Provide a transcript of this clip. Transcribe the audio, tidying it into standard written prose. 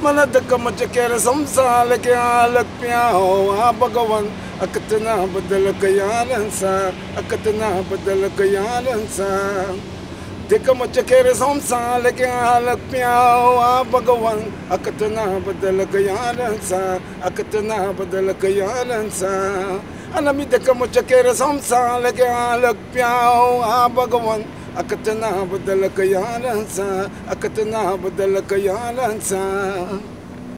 मन धक मच केर संसार के आलक प्याओ आ भगवान अकतना बदल कयालंसा अकतना बदल कयालंसा दिक मच केर संसार के आलक प्याओ आ भगवान अकतना बदल कयालंसा अकतना बदल कयालंसा अनमी दिक मच केर संसार के आलक प्याओ आ भगवान अकतना बदल कयालंसा अकतना बदल कयालंसा।